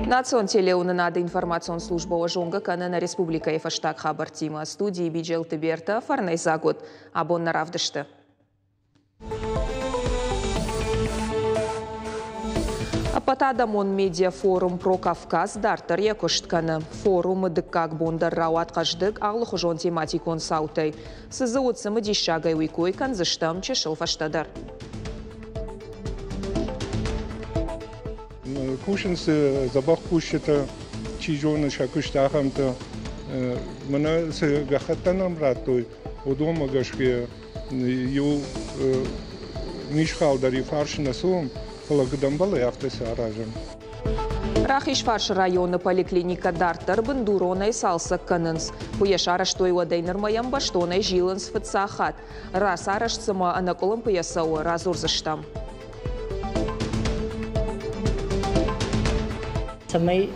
Национ телеуынынады информацион службӕ уӕ зонгӕ кӕны нӕ республикӕйы фӕстаг хабӕрттимӕ. Студийы Биджелты Бертӕ, фӕрнӕйдзаг уыд. Абон нӕ равдысты. Ӕппӕтадӕмон медиафорум «Про Кавказ» дарддӕр йӕ куыст кӕны. Форумы дыккаг бон дӕр рауад хъӕздыг алыхуызон тематикон цаутӕй. Цы дзы уыд цымыдиссагӕй, уый кой кӕндзыстӕм чысыл фӕстӕдӕр. Кусынц дзӕбӕх кусджытӕ, чи зоны сӕ куыст ахӕмтӕ. Мӕнӕ цы гӕххӕттӕ нӕм радтой, уыдонмӕ гӕсгӕ иу мисхал дӕр иу фарс нӕ цӕуӕм, фӕлӕ куыд ӕмбӕлы, афтӕ сӕ аразӕм. Рахизфарсы районы поликлиникӕ дарддӕр бындуронӕй цалцӕг кӕнынц. Куы йӕ сарӕзтой, уӕдӕй нырмӕ йӕм бӕстонӕй зилынц фыццаг хатт. Рацарӕзт цыма ӕнӕкъуылымпыйӕ цӕуы, радзурдзыстӕм. Цӕмӕй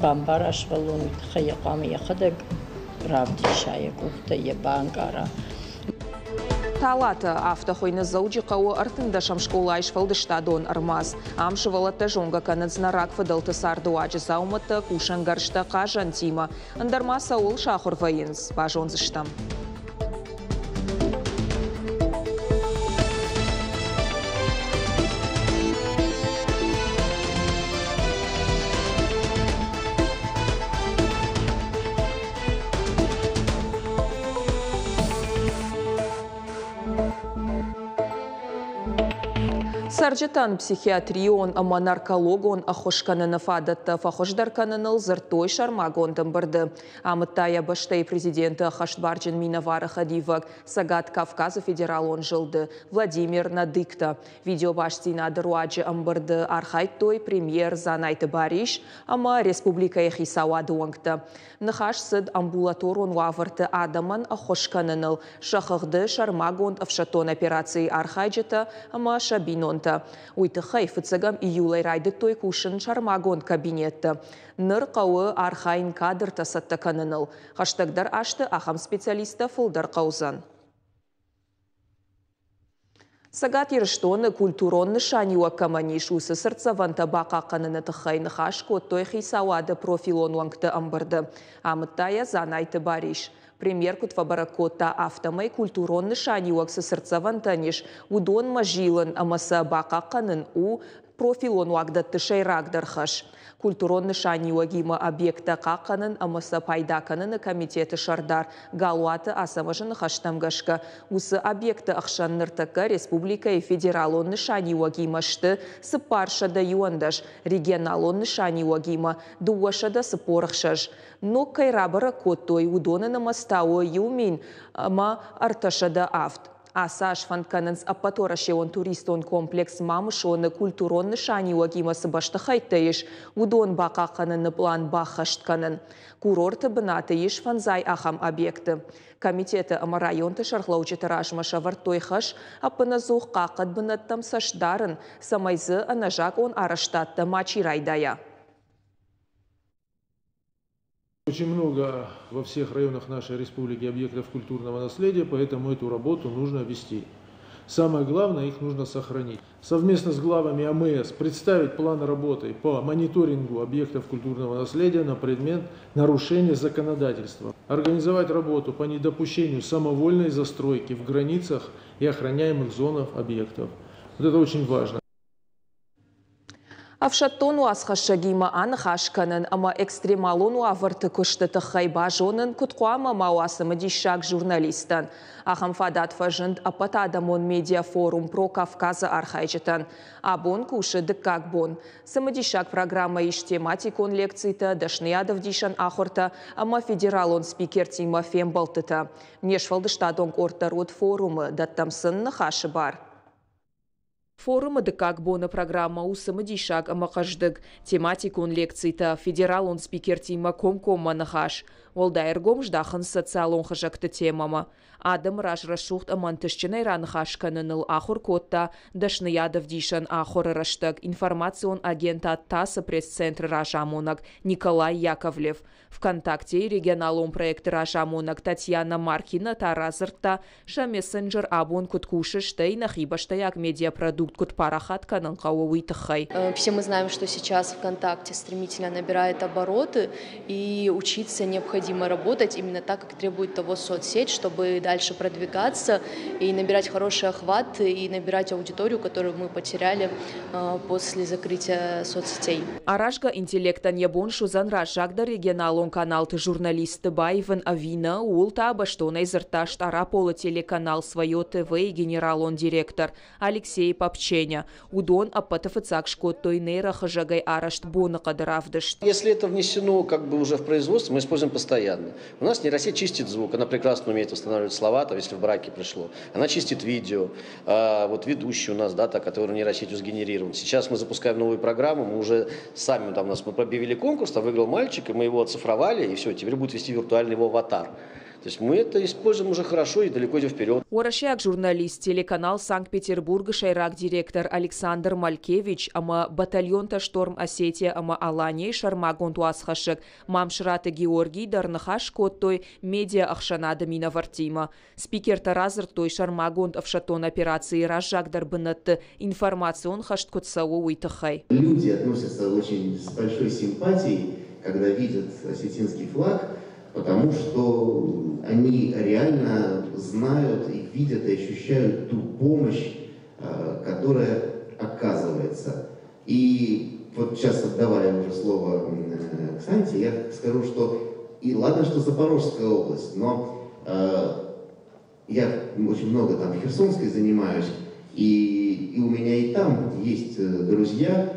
бамбара сывӕллон, уый тыххӕй йӕ хъуамӕ йӕхӕдӕг равдиса, йӕ къухтӕ йӕ банкъара. Талатӕ, афтӕ хуыйны Дзӕуджыхъӕуы ӕртындӕсӕм скъолайы сфӕлдыстадон ӕрмадз. Ам сывӕллӕттӕ зонгӕ кӕнынц нӕ рагфыдӕлты цардыуаджы дзаумӕттӕ, кусӕнгӕрзтӕ, хъазӕнтимӕ. Ӕндӕр ма цӕуыл сахуыр вӕййынц, базондзыстӕм. Цӕрджытӕн психиатрион ӕмӕ наркологон ӕххуыс кӕныны фадӕттӕ фӕхуыздӕр кӕныныл дзырдтой сӕрмагонд ӕмбырды. Амыдта йӕ бӕстӕйы президенты ӕххӕстбарджын минӕвары хӕдивӕг Цӕгат Кавказы федералон зылды Владимир Надыкто. Видеобастдзинады руаджы ӕмбырды архайдтой премьер Дзанайты Барис ӕмӕ республикӕйы хицауады уӕнгтӕ. Ныхас цыд амбулаторон уавӕрты адӕмӕн ӕххуыс кӕныныл, сӕ хыгъды сӕрмагонд ӕфсӕддон операцийы архайджытӕ ӕмӕ сӕ бинонтӕ. Уый тыххӕй фыццӕгӕм июлӕй райдыдтой кусын сӕрмагонд кабинетты. Ныр хъӕуы архайын кадртӕ цӕттӕ кӕныныл. Хӕстӕгдӕр азты ахӕм специалисттӕ фылдӕр хъӕудзӕн. Цӕгат Ирыстоны культурон нысаниуӕг кӕмӕн ис, уыцы цыртдзӕвӕнтӕ бахъахъхъӕныны тыххӕй ныхас кодтой хицауады профилон уӕнгты ӕмбырды. Амыдта йӕ Дзанайты Барис. Премьер куыд фӕбӕрӕг кодта, афтӕмӕй культурон нысаниуӕг цы цыртдзӕвӕнтӕн ис, уыдонмӕ зилын ӕмӕ сӕ бахъахъхъӕнын у профилон уагдӕтты сӕйрагдӕр хӕс. Культурон нысаниуӕгимӕ объекттӕ хъахъхъӕнын ӕмӕ сӕ пайда кӕныны комитеты сӕрдар Галуаты Ацӕмӕзы ныхӕстӕм гӕсгӕ, уыцы объектты ӕхсӕн ныртӕккӕ республикӕйы федералон нысаниуӕгимӕ сты 411, регионалон нысаниуӕгимӕ 246. Ног кӕй рабӕрӕг кодтой, уыдоны нымӕц та у 1307. Ацы аз фӕнд кӕнынц ӕппӕтуӕрӕсеон туристон комплекс Мамысон-ы культурон нысаниуӕгимӕ цы бӕстыхӕйттӕ ис, уыдон бахъахъхъӕныны пълан баххӕст кӕнын. Курорты бынаты ис фӕндзай ахӕм объекты. Комитеты ӕмӕ районты сӕргълӕуджыты размӕ сӕвӕрдтой хӕс ӕппынӕдзух хъахъхъӕд бынӕттӕм цӕст дарын, цӕмӕй дзы ӕнӕзакъон арӕзтадтӕ мачи райдайа. Очень много во всех районах нашей республики объектов культурного наследия, поэтому эту работу нужно вести. Самое главное, их нужно сохранить. Совместно с главами АМС представить план работы по мониторингу объектов культурного наследия на предмет нарушения законодательства. Организовать работу по недопущению самовольной застройки в границах и охраняемых зонах объектов. Вот это очень важно. Ӕфсӕддон уацхӕссӕгимӕ аныхас кӕнын ӕмӕ экстремалон уавӕрты куысты тыххӕй базонын куыд хъуамӕ ма уа цымыдисаг журналисттӕн. Ахӕм фадат фӕзынд ӕппӕтадӕмон медиафорум «Про Кавказ-ы» архайджытӕн. Абон кусы дыккаг бон. Цымыдисаг программӕ ис тематикон лекцитӕ, дӕсныйадӕвдисӕн ахуыртӕ ӕмӕ федералон спикертимӕ фембӕлдтытӕ. Не сфӕлдыстадон къорд дӕр уыд форумы, дӕттӕм сын ныхасы бар. Форумы дыккаг боны программӕ у цымыдисаг ӕмӕ хъӕздыг. Тематикон лекцитӕ, федералон спикертимӕ комкоммӕ ныхас. Уӕлдай ӕргом здахынц социалон хызӕгты темӕмӕ. Адӕмы раз рӕсугъд ӕмӕ ӕнтыстджынӕй раныхас кӕныныл ахуыр кодта дӕсныйадӕвдисӕн ахуыры рӕстӕг информацион агентад ТАСС-ы пресс-центры разамонӕг Николай Яковлев. ВКонтактейы регионалон проекты разамонӕг Татьяна Маркина та радзырдта, сӕ мессенджер абон куыд кусы, стӕй нӕхи бӕстӕйаг медиапродукт куыд парахат кӕнын хъӕуы, уый тыххӕй. Все мы знаем, что сейчас ВКонтакте стремительно набирает обороты, и учиться необходимо работать именно так, как требует того соцсеть, чтобы дальше продвигаться и набирать хороший охват, и набирать аудиторию, которую мы потеряли после закрытия соцсетей. Аразгӕ интеллектӕн йӕ бон суыдзӕн раззагдӕр регионалон каналты журналистты баивын ӕви нӕ, ууыл та бӕстонӕй дзырдта Стъараполы телеканал «Свое ТВ»-йы генералон директор Алексей Попченя. Уыдон ӕппӕты фыццаг скодтой нейрохызӕгӕй арӕзт боныхъӕды равдыст. Если это внесено как бы уже в производство, мы используем постоянно. У нас нейросеть чистит звук, она прекрасно умеет восстанавливать слова, там, если в браке пришло. Она чистит видео. Вот ведущий у нас, да, та, который нейросетью сгенерирован. Сейчас мы запускаем новую программу, мы уже сами, там, у нас мы объявили конкурс, там выиграл мальчик, и мы его оцифровали, и все, теперь будет вести виртуальный его аватар. То есть мы это используем уже хорошо и далеко идем вперед. Уӕрӕсейаг журналист, телеканал Санкт-Петербург-ы сӕйраг директор Александр Малькевич ӕмӕ батальонтӕ «Шторм Осетия» ӕмӕ «Алания»-йы сӕрмагонд уацхӕссӕг Мамсыраты Георгий дӕр ныхас кодтой медиа-ӕхсӕнады минӕвӕрттимӕ. Спикертӕ радзырдтой сӕрмагонд ӕфсӕддон операцийы раззагдӕр бынӕтты информацион хӕст куыд цӕуы, уый тыххӕй. Люди относятся очень с большой симпатией, когда видят осетинский флаг, потому что они реально знают и видят и ощущают ту помощь, которая оказывается. И вот сейчас, отдавая уже слово Ксанте, я скажу, что и ладно, что Запорожская область, но я очень много там в Херсонской занимаюсь, и у меня и там есть друзья,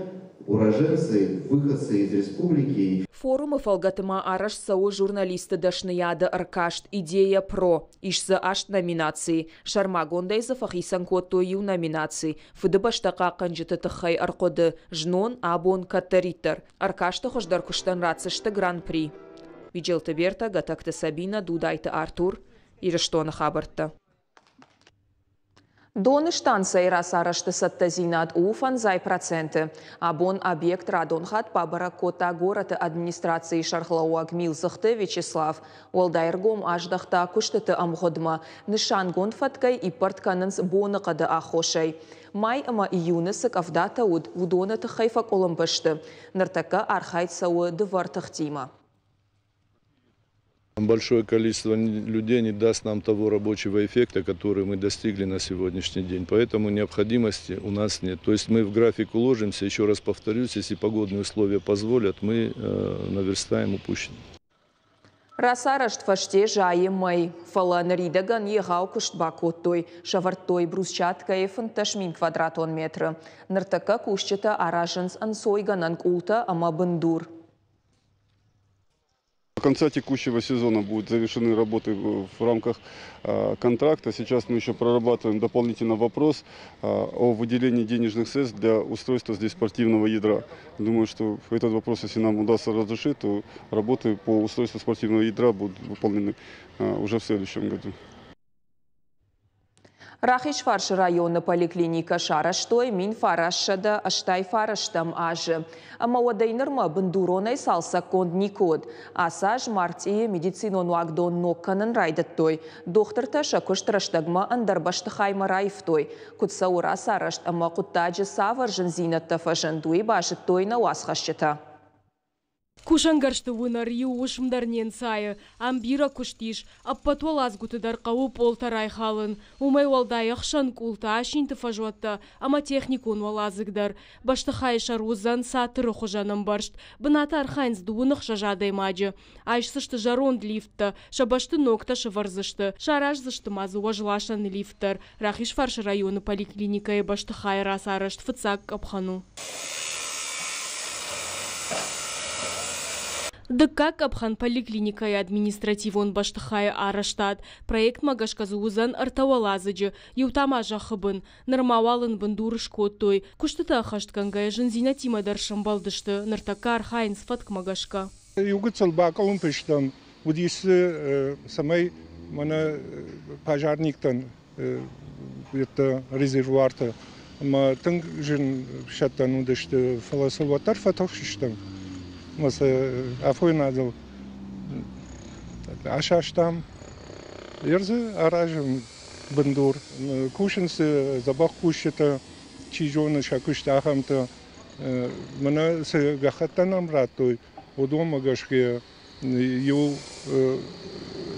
уроженцы, выходцы из республики. Форумы фӕлгӕты ма арӕзт цӕуы журналисты дӕсныйады ӕркаст «Идея ПРО». Ис дзы аст номинацийы. Сӕрмагондӕй дзы фӕхицӕн кодтой иу номинаци «Фыдыбӕстӕ хъахъхъӕнджыты тыххӕй ӕрхъуыды. Знон, абон, кӕддӕриддӕр». Ӕркасты хуыздӕр куыстӕн ратдзысты гран-при. Биджелты Берта, Гатӕгты Сабина, Дудайты Артур. Ирыстоны хабӕрттӕ. Доны станцӕйы рацарӕзты цӕттӕдзинад у 50%. Абон объект радон хатт бабӕрӕг кодта горӕты администрацийы сӕргълӕууӕг Милдзыхты Вячеслав. Уӕлдай ӕргом аздӕхта куыстыты ӕмгъуыдмӕ. Нысангонд фӕткӕй иппӕрд кӕнынц боныхъӕды аххосӕй. Май ӕмӕ июны цы къӕвдатӕ уыд, уыдоны тыххӕй фӕкъуылымпы сты. Ныртӕккӕ архайд цӕуы дывӕр тыхтимӕ. Большое количество людей не даст нам того рабочего эффекта, который мы достигли на сегодняшний день. Поэтому необходимости у нас нет. То есть мы в график уложимся, еще раз повторюсь, если погодные условия позволят, мы наверстаем упущенное. Рацарӕзт фӕсте зайы мӕй, фӕлӕ ныридӕгӕн егъау куыст бакодтой, сӕвӕрдтой брусчаткӕйы 15 000 квадратон метры. Ныртӕккӕ кусджытӕ аразынц ӕнцойгӕнӕн къултӕ ӕмӕ бындур. До конца текущего сезона будут завершены работы в рамках контракта. Сейчас мы еще прорабатываем дополнительно вопрос о выделении денежных средств для устройства здесь спортивного ядра. Думаю, что этот вопрос, если нам удастся разрешить, то работы по устройству спортивного ядра будут выполнены уже в следующем году. Рахизфарсы районы поликлиникӕ сарӕзтой 1989 азы. Ӕмӕ уӕдӕй нырмӕ бындуронӕй цалцӕггонд никуы уыд. Ацы аз мартъийы медицинон уагдон ног кӕнын райдыдтой. Дохтыртӕ сӕ куыст рӕстӕгмӕ ӕндӕр бӕстыхаймӕ раивтой. Куыд цӕуы рацарӕзт ӕмӕ хъуыддаджы цавӕр зындзинӕдтӕ фӕзынд, уый базыдтой нӕ уацхӕсджытӕ. Кусӕнгӕрзты уынӕр иу уысм дӕр не нцайы. Ам бирӕ куыст ис. Ӕппӕт уӕладзгуыты дӕр хъӕуы пъолтӕ райхалын. Уымӕй уӕлдай ӕхсӕн къултӕ, асинты фӕзуӕттӕ ӕмӕ техникон уӕладзыг дӕр. Бӕстыхайы сӕр уыдзӕн цатыры хуызӕн ӕмбӕрзт. Бынаты архайынц 26 адӕймаджы. Айсдзысты зӕронд лифттӕ, сӕ бӕсты ногтӕ сӕвӕрдзысты. Сараздзысты ма дзы уӕзласӕн лифт дӕр. Рахизфарсы районы поликлиникӕйы бӕстыхайы рацарӕзт фыццаг къӕпхӕн у. Дыккаг къӕпхӕн поликлиникӕйы административон бӕстыхайы арӕзтад. Проектмӕ гӕсгӕ дзы уыдзӕн ӕртӕ уӕладзыджы, иу та ма зӕххы бын. Нырма уал ын бындур скодтой. Куыстытӕ ӕххӕстгӕнгӕйӕ зындзинӕдтимӕ дӕр сӕмбӕлдысты. Ныртӕккӕ архайынц фӕткмӕ гӕсгӕ. Иу гыццыл бакъуылымпы стӕм, уыдис, цӕмӕй мӕнӕ пожарниктӕн резервуартӕ ӕмӕ тынг зын сӕттӕн уыдысты, фӕлӕ сыл уӕддӕр фӕтыхстыстӕм. Ӕмӕ сӕ афойнадыл асастам. Ер дзы аразӕм бындур. Кусынц дзӕбӕх кусджытӕ. чи зоны сӕ куыст, ахӕмтӕ. Мӕнӕ цы гӕххӕттӕ нӕм радтой, уыдонмӕ гӕсгӕ иу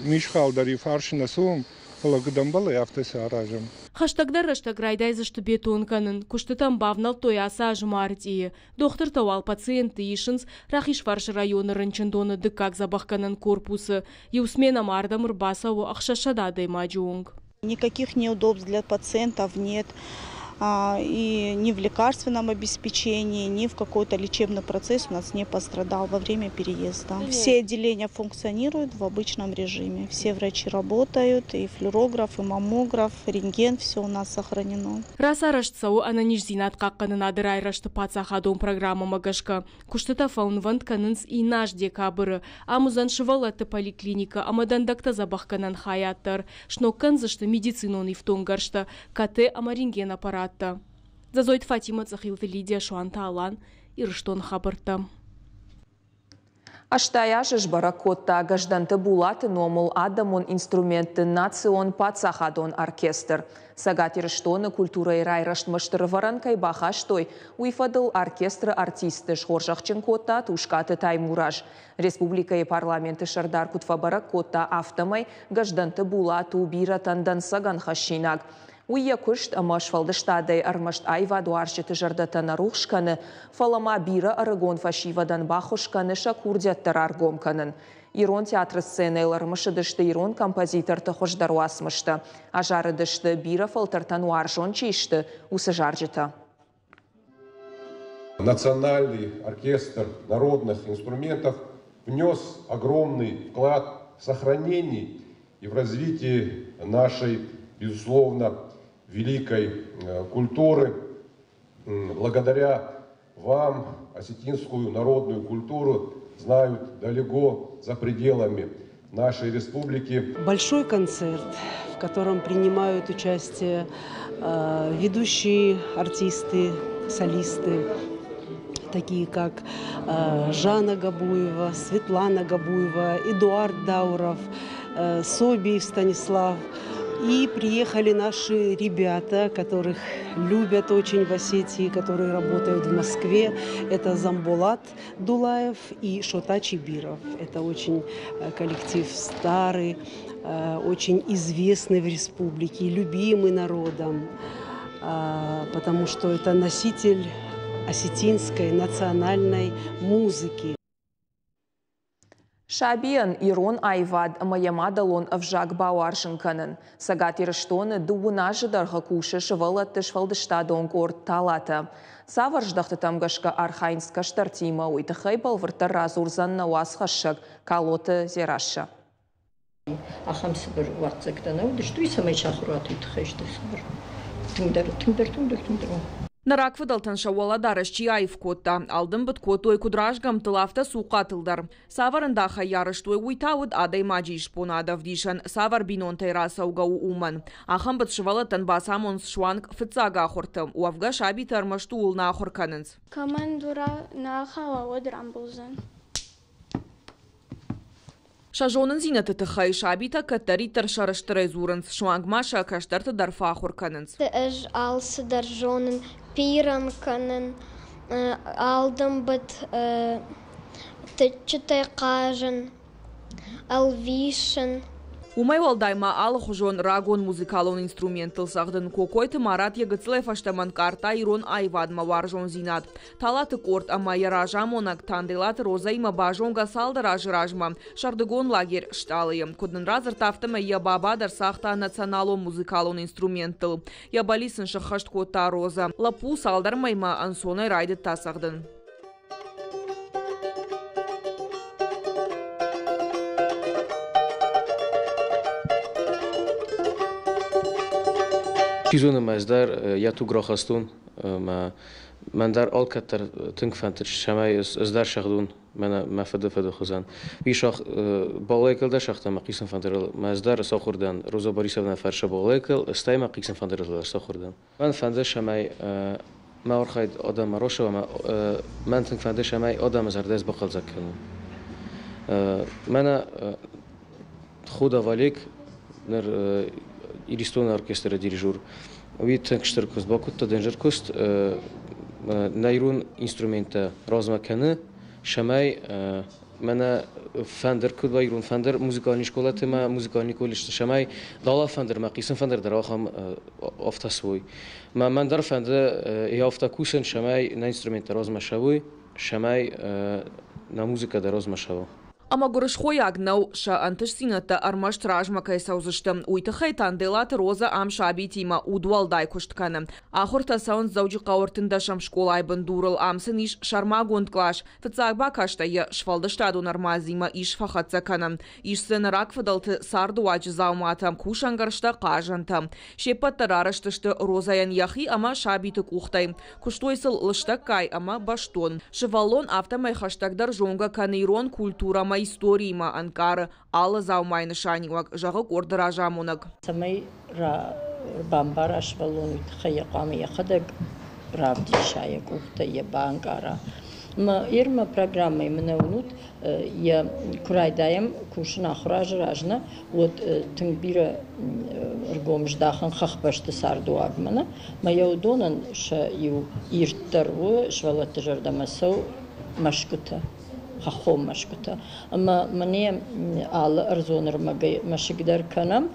мисхал дӕр иу фарс нӕ цӕуӕм, фӕлӕ куыд ӕмбӕлы, афтӕ сӕ аразӕм. Хӕстӕгдӕр рӕстӕг райдайдзысты бетон кӕнын. Куыстытӕм бавнӕлдтой ацы азы мартъийы. Дохтыртӕ уал пациентты исынц Рахизфарсы районы рынчындоны дыккаг дзӕбӕхгӕнӕн корпусы. Иу сменӕмӕ ардӕм ӕрбацӕуы 600 адӕймаджы онг. Никаких неудобств для пациентов нет и ни в лекарственном обеспечении, ни в какой-то лечебный процесс у нас не пострадал во время переезда. Все отделения функционируют в обычном режиме. Все врачи работают, и флюорограф, и маммограф, рентген, все у нас сохранено. Рацарӕзт цӕуы ӕнӕниздзинад хъахъхъӕнынады райрӕзты паддзахадон программӕмӕ гӕсгӕ. Куыстытӕ фӕуынвӕнд кӕнынц иннӕ аз декабры. Ам уыдзӕн сывӕллӕтты поликлиникӕ ӕмӕ дӕндӕгтӕ дзӕбӕхгӕнӕн хайад дӕр. Сног кӕндзысты медицинон ифтонггӕрзтӕ, КТ ӕмӕ рентген-аппараттӕ. Дзӕзойты Фатимӕ, Цъӕхилты Лидия, Суанты Алан, Ирыстоны хабӕрттӕ. 80 азы сбӕрӕг кодта Гӕздӕнты Булаты номыл адӕмон инструментты национ паддзахадон оркестр. Цӕгат Ирыстоны культурӕйы райрӕзтмӕ стыр ӕвӕрӕн кӕй бахастой, уый фӕдыл оркестры артистты схорзӕхджын кодта Тускъаты Таймураз. Республикӕйы парламенты сӕрдар куыд фӕбӕрӕг кодта, афтӕмӕй Гӕздӕнты Булат у бирӕтӕн дӕнцӕгӕн хӕссинаг. Уый йӕ куыст ӕмӕ сфӕлдыстадӕй ӕрмӕст аивадуарзджыты зӕрдӕтӕ нӕ рухс кӕны, фӕлӕ ма бирӕ ӕрыгон фӕсивӕдӕн баххуыс кӕны сӕ курдиӕттӕ раргом кӕнын. Ирон театры сценӕйыл ӕрымысыдысты ирон композиторты хуыздӕр уацмыстӕ, азарыдысты, бирӕ фӕлтӕртӕн уарзон чи сты, уыцы зарджытӕ. Национальный оркестр народных инструментов внес огромный вклад в сохранение и в развитии нашей, безусловно, великой культуры. Благодаря вам осетинскую народную культуру знают далеко за пределами нашей республики. Большой концерт, в котором принимают участие ведущие артисты, солисты, такие как Жанна Габуева, Светлана Габуева, Эдуард Дауров, Собиев Станислав. И приехали наши ребята, которых любят очень в Осетии, которые работают в Москве. Это Замбулат Дулаев и Шота Чибиров. Это очень коллектив старый, очень известный в республике, любимый народом, потому что это носитель осетинской национальной музыки. Сабийӕн ирон аивад ӕмӕ йӕ мадӕлон ӕвзаг бауарзын кӕнын. Цӕгат Ирыстоны дыууын азы дӕргъы кусы сывӕллӕтты сфӕлдыстадон къорд Талатӕ. Цавӕр здӕхтытӕм гӕсгӕ архайынц кӕстӕртимӕ, уый тыххӕй бӕлвырддӕр радзурдзӕн нӕ уацхӕссӕг Калоты Дзерассӕ. Ахӕм цыбыр уаццӕгтӕ нӕ уыдысты, уый цӕмӕй сахуыр уат, уый тыххӕй сты цыбыр. Тынгдӕр, тынгдӕр, тынгдӕр, тынгдӕр. Нӕ рагфыдӕлтӕн сӕ уӕлӕдарӕс чи аив кодта, алдымбыд кодтой куыд разгӕмттыл, афтӕ цухъхъатыл дӕр. Цавӕр ӕндахӕй арӕзтой, уый та уыд адӕймаджы исбонады ӕвдисӕн, цавӕр бинонтӕй рацӕугӕ у, уымӕн. Ахӕм быд сывӕллӕттӕн бацамонынц суанг фыццаг ахуырты. Уӕвгӕ сабитӕ ӕрмӕст ууыл нӕ ахуыр кӕнынц. Кӕмӕн дура нӕ ахауа, уӕд рамбулдзӕн. Сӕ зонындзинӕдты тыххӕй сабитӕ кӕддӕриддӕр сӕрыстырӕй дзурынц, суанг ма сӕ кӕстӕрты дӕр фӕахуыр кӕнынц. Ӕз алцыдӕр зонын, пирӕн кӕнын, алдымбыд тыччытӕй хъазын, ӕлвисын. Уымӕй уӕлдай ма алыхуызон рагон музыкалон инструменттыл цӕгъдын Кокойты Марат йӕ гыццылӕй фӕстӕмӕ ӕнкъардта ирон аивадмӕ уарзондзинад. Талаты къорд ӕмӕ йӕ разамонӕг Танделаты Розӕимӕ базонгӕ цалдӕр азы размӕ сӕрдыгон лагерь «Стъалы-йы». Куыд нын радзырдта, афтӕмӕй йӕ баба дӕр цагъта националон музыкалон инструменттыл. Йӕ бӕллиц ын сӕххӕст кодта Розӕ. Лӕппу цалдӕр мӕймӕ ӕнцонӕй райдыдта цӕгъдын. Чи зоны, ӕз дӕр йӕ туг рахастон, ӕмӕ мӕн дӕр алкӕддӕр тынг фӕндыд, цӕмӕй ӕз дӕр сӕгъдон мӕнӕ мӕ фыды фыды хуызӕн. Уый сах балалайкыл дӕр сагъта мӕ хъисын фӕндырыл, мӕ ӕз дӕр сахуыр дӕн Роза Борисовна фӕрсы балалайкыл, стӕй мӕ хъисын фӕндырыл дӕр сахуыр дӕн. Мӕн фӕнды, цӕмӕй мӕ архайд адӕммӕ рацӕуа ӕмӕ мӕн тынг фӕнды, цӕмӕй адӕмы зӕрдӕ бахъӕлдзӕг кӕнон. Мӕнӕ Худов Олег, ныр Иристоны оркестры дирижер. Уый тынг стыр куыст бакодта, дынджыр куыст. Нӕ ирон инструменттӕ размӕ кӕны, цӕмӕй мӕнӕ фӕндыр куыд уа ирон фӕндыр музыкальный скъолаты ӕмӕ музыкальный колледжты, цӕмӕй дала фӕндыр ӕмӕ хъисын фӕндыр дӕр ахӕм афтӕ суой. Мӕ мӕн дӕр фӕнды йӕ афтӕ кусын, цӕмӕй нӕ инструменттӕ размӕ цӕуой, цӕмӕй нӕ музыкӕ дӕр размӕ цӕуа. Ӕмӕ гуырысхойаг нӕу, сӕ ӕнтыстдзинӕдтӕ ӕрмӕст размӕ кӕй цӕудзысты, уый тыххӕй Танделаты Розӕ ам сабитимӕ удуӕлдай куыст кӕны. Ахуыртӕ цӕуынц Дзӕуджыхъӕуы ӕртындӕсӕм скъолайы бындурыл, ам сын ис сӕрмагонд кълас. Фыццаг бакастӕй йӕ сфӕлдыстадон ӕрмадзимӕ ис фӕхӕццӕ кӕнӕн. Ис дзы нӕ рагфыдӕлты цардыуаджы дзауматӕ, кусӕнгӕрзтӕ, хъазӕнтӕ. Се ппӕт дӕр арӕзт сты Розӕйӕн йӕхи ӕмӕ сабиты къухтӕй. Куыстой сыл лыстӕггай ӕмӕ бӕстон. Сывӕллон афтӕмӕй хӕстӕгдӕр зонгӕ кӕны ирон культурӕ ӕмӕ историимӕ, ӕнкъары алы дзаумайы нысаниуӕг, зӕгъы къорды разамонӕг. Цӕмӕй бамбара сывӕллон, уый тыххӕй йӕ хъуамӕ йӕхӕдӕг равдиса йӕ къухтӕ, йӕ банкъара. Ӕмӕ Ирмӕ программӕйы мын уынут, йӕ куы райдайӕм кусын ахуыр азы размӕ, уӕд тынг бирӕ ӕргом здахын хӕхбӕсты цардыуагмӕ. Нӕ? Мӕ йӕ уыдонӕн сӕ иу ирддӕр у сывӕллӕтты зӕрдӕмӕ цӕуы мӕсгуытӕ, хӕххон мӕсгуытӕ. Ӕмӕ мӕнӕ алы ӕрдзон ӕрмӕгӕй мӕсыг дӕр кӕнӕм,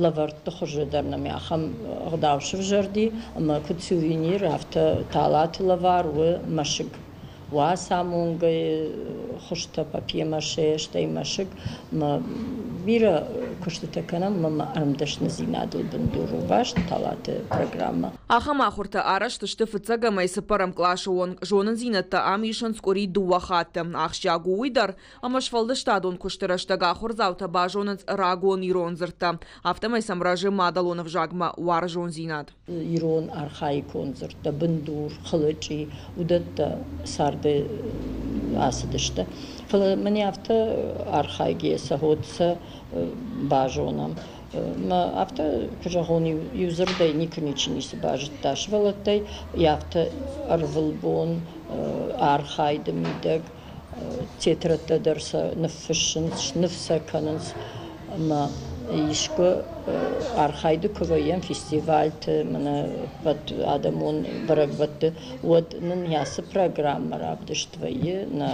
лӕвӕртты хуызы дӕр нӕм ахӕм ӕгъдау сывзӕрди, ӕмӕ куыд сувенир, афтӕ талаты лӕвар у мӕсыг. Уацамонгӕ хуызтӕ папье-маше, стӕй мӕсыг ӕмӕ бирӕ куыстытӕ кӕнӕм ӕмӕ ӕрмдӕсныдзинадыл бындур у баст талаты программӕ. Ахӕм ахуыртӕ арӕзт сты фыццӕгӕмӕй цыппӕрӕм къласы онг. Зонындзинӕдтӕ ам исынц къуыри дыууӕ хатты. Ахсджиаг у уый дӕр, ӕмӕ сфӕлдыстадон куысты рӕстӕг ахуырдзаутӕ базонынц рагон ирон дзырдтӕ. Афтӕмӕй сӕм рӕзы мадӕлон ӕвзагмӕ уарзондзинад. Ирон архаикон дзырдтӕ, бындур, хылычъи, уыдӕттӕ царды ацыдысты. Фӕлӕ мӕн афтӕ архайгӕ сӕ хот сӕ базонӕм. Мӕ афтӕ куы зӕгъон, иу дзырдӕй никуы ничи ницы базыдта сывӕллӕттӕй, афтӕ ӕрвылбон архайды мидӕг тетрӕдтӕ дӕр сӕ ныффыссынц, сныв сӕ кӕнынц ӕмӕ искуы архайды куы вӕййӕм фестивальты, мӕнӕ ӕппӕт адӕмон бӕрӕгбӕтты, уӕд нын ацы программӕ равдыст вӕййы нӕ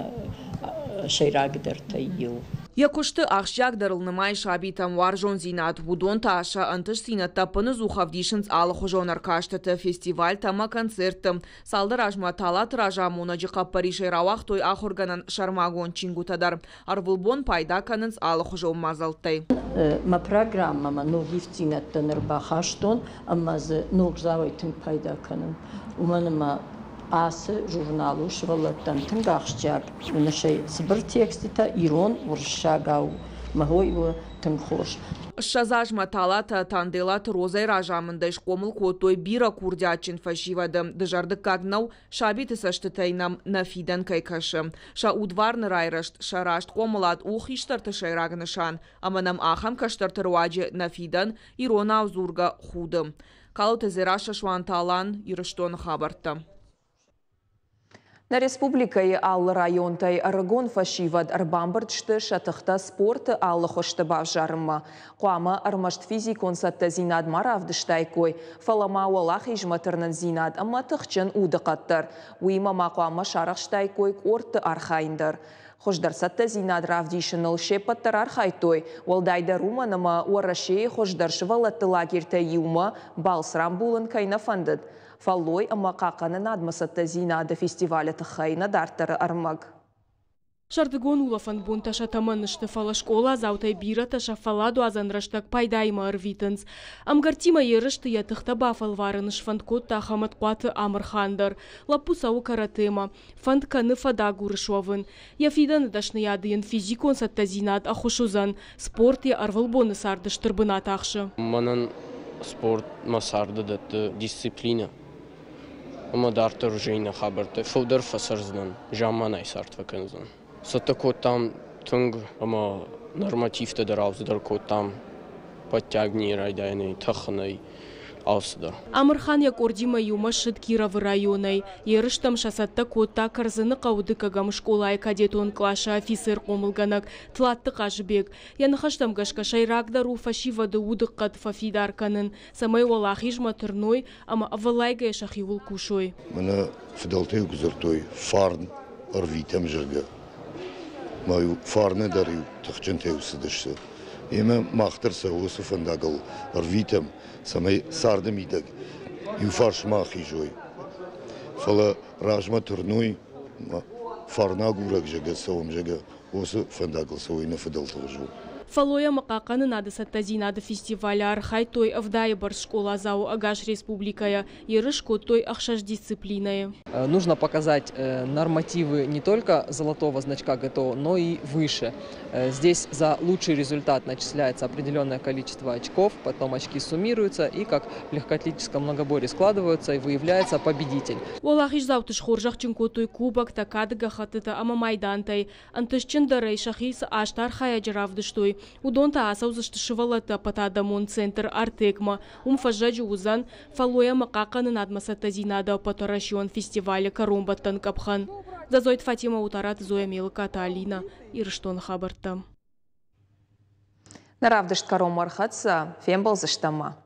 сӕйрагдӕртӕй иу. Йӕ куысты ахсджиагдӕрыл нымайы сабитӕм уарзондзинад. Уыдон та сӕ ӕнтыстдзинӕдтӕ ӕппынӕдзух ӕвдисынц алыхуызон ӕркастыты, фестивальтӕ ӕмӕ концертты. Цалдӕр азмӕ Талаты разамонӕджы хъӕппӕрисӕй рауагътой ахуыргӕнӕн сӕрмагонд чингуытӕ дӕр. Ӕрвылбон пайда кӕнынц алыхуызон мадзӕлттӕй. Мӕ программӕмӕ ног ивддзинӕдтӕ ныр бахастон ӕмӕ дзы ногдзауӕй тынг пайда кӕнын. Уымӕн ӕмӕ ацы журнал у сывӕллӕттӕн тынг ахсджиаг. Уыныс ӕй, цыбыр текстытӕ ирон, уырыссагау. Мӕ хой у тынг хорз. 20 азмӕ Талатӕ Танделаты Розӕйы разамындӕй схъомыл кодтой бирӕ курдиатджын фӕсивӕды. Дызӕрдыггаг нӕу, сабиты цӕстытӕй нӕм нӕ фидӕн кӕй кӕсы. Сӕ удварны райрӕзт, сӕ раст хъомылад у хистӕрты сӕйраг нысан, ӕмӕ нӕм ахӕм кӕстӕрты руаджы нӕ фидӕн иронау дзургӕ худы. Калоты Дзерассӕ, Суанты Алан, Ирыстоны хабӕрттӕ. Нӕ республикӕйы алы районтӕй ӕрыгон фӕсивӕд ӕрбамбырд сты сӕ тыхтӕ спорты алы хуызты бавзарынмӕ. Хъуамӕ ӕрмӕст физикон цӕттӕдзинад ма равдыстаиккой, фӕлӕ ма уӕлахизмӕ тырнындзинад ӕмӕ тыхджын удыхъӕд дӕр. Уыимӕ ма хъуамӕ сарӕхстаиккой къордты архайын дӕр. Хуыздӕр цӕттӕдзинад равдисыныл се ппӕт дӕр архайдтой, уӕлдайдӕр уымӕн ӕмӕ Уӕрӕсейы хуыздӕр сывӕллӕтты лагерьтӕй иумӕ балц рамбулын кӕй нӕ фӕндыд. Фӕллой ӕмӕ хъахъхъӕнынадмӕ цӕттӕдзинады фестивалы тыххӕй нӕ дарддӕры ӕрмӕг. Сӕрдыгон улӕфӕн бонтӕ сӕ тӕмӕны сты, фӕлӕ скъоладзаутӕй бирӕтӕ сӕ фӕлладуадзӕн рӕстӕг пайдаимӕ ӕрвитынц. Ӕмгӕрттимӕ ерысты йӕ тыхтӕ бафӕлварын сфӕнд кодта Хӕмӕтхъуаты Амырхан дӕр. Лӕппу цӕуы каратэмӕ. Фӕнд кӕны фӕдагуры суӕвын. Йӕ фидӕны дӕсныйады йын физикон цӕттӕдзинад ӕххуыс уыдзӕн. Спорт йӕ ӕрвылбоны царды стыр бынат ахсы. Мӕнӕн спорт мӕ царды дӕтты дисциплинӕ ӕмӕ дарддӕр уже иннӕ хабӕрттӕ фылдӕр фӕцӕрдзынӕн, замманай цард фӕкӕндзӕн. Цӕттӕ кодтам тынг ӕмӕ нормативтӕ дӕр алцыдӕр кодтам подтягивание райдайӕнӕй, тӕхынӕй. Алцыдӕр. Амырхан йӕ къордимӕ иумӕ ссыд Кировы районӕй. Ерыстӕм сӕ цӕттӕ кодта Кӕрдзыны хъӕуы дыккӕгӕм скъолайы кадетон къласы афицер-хъомылгӕнӕг Тлатты Хъазыбег. Йӕ ныхӕстӕм гӕсгӕ сӕйрагдӕр у фӕсивӕды удыхъӕд фӕфидар кӕнын, цӕмӕй уӕлахизмӕ тырной ӕмӕ ӕвӕллайгӕйӕ сӕхиуыл кусой. Мӕнӕ фыдӕлтӕ-иу куы дзырдтой фарн ӕрвитӕм, зӕгъгӕ, ма-иу фарны дӕр-иу тыхджынтӕ-иу цыдысты. Емӕ мах дӕр сӕ уыцы фӕндагыл ӕрвитӕм, цӕмӕй царды мидӕг иу фарс ма ахизой, фӕлӕ размӕ тырной, фарнагурӕг, зӕгъгӕ, цӕуӕм, зӕгъгӕ, уыцы фӕндагыл цӕуой нӕ фыдӕлты хуызон. Фӕллой ӕмӕ хъахъхъӕнынады цӕттӕдзинады фестивалы архайдтой 70-ы бӕрц скъоладзауы ӕгас республикӕйӕ. Ерыс кодтой ӕхсӕз дисциплинӕйы. Нужно показать нормативы не только золотого значка ГТО, но и выше. Здесь за лучший результат начисляется определенное количество очков, потом очки суммируются и, как в легкоатлетическом многоборье, складываются и выявляется победитель. Уӕлахиздзауты схорзӕхджын кодтой кубоктӕ, кады гӕххӕттытӕ ӕмӕ майдантӕй. Ӕнтыстджындӕрӕй сӕхи цы аст архайӕджы равдыстой, уыдон та ацӕудзысты сывӕллӕтты ӕппӕтадӕмон центр «Артек»-мӕ. Уым фӕззӕджы уыдзӕн фӕллой ӕмӕ хъахъхъӕнынадмӕ цӕттӕдзинады ӕппӕтуӕрӕсеон фестивалы кӕронбӕттӕн къӕпхӕн. Дзӕдзойты Фатимӕ, Утараты Зоя, Мелыкаты Алинӕ, Ирыстоны хабӕрттӕ. Нӕ равдыст кӕронмӕ ӕрхӕццӕ, фембӕлдзыстӕм ма.